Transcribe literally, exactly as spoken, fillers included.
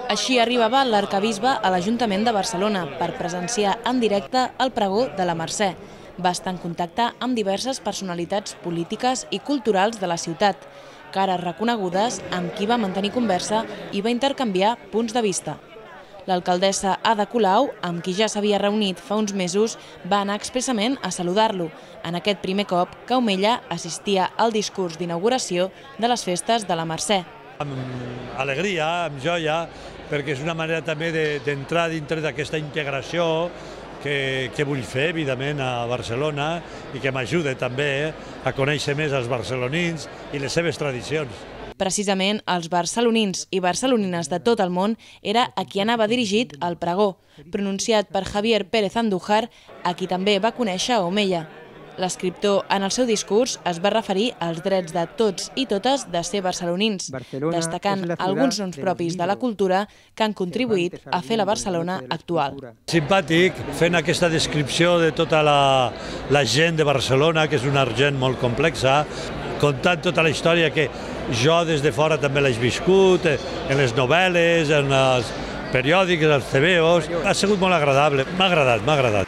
Així arribava l'arquebisbe a l'Ajuntament de Barcelona per presenciar en directe el pregó de la Mercè. Va estar en contacte amb diverses personalitats polítiques i culturals de la ciutat, cares reconegudes amb qui va mantenir conversa i va intercanviar punts de vista. L'alcaldessa Ada Colau, amb qui ja s'havia reunit fa uns mesos, va anar expressament a saludar-lo, en aquest primer cop que Omella assistia al discurs d'inauguració de les festes de la Mercè. Amb alegria, amb joia, perquè és una manera també d'entrar dintre d'aquesta integració que, que vull fer, evidentment, a Barcelona i que m'ajuda també a conèixer més els barcelonins i les seves tradicions. Precisament els barcelonins i barcelonines de tot el món era a qui anava dirigit el pregó, pronunciat per Javier Pérez Andújar, a qui també va conèixer a Omella. L'escriptor, en el seu discurs, es va referir als drets de tots i totes de ser barcelonins, destacant alguns noms propis de la cultura que han contribuït a fer la Barcelona actual. Simpàtic, fent aquesta descripció de tota la, la gent de Barcelona, que és una gent molt complexa, contant tota la història que jo des de fora també l'he viscut, en les novel·les, en els periòdics, els tebeos. Ha sigut molt agradable, m'ha agradat, m'ha agradat.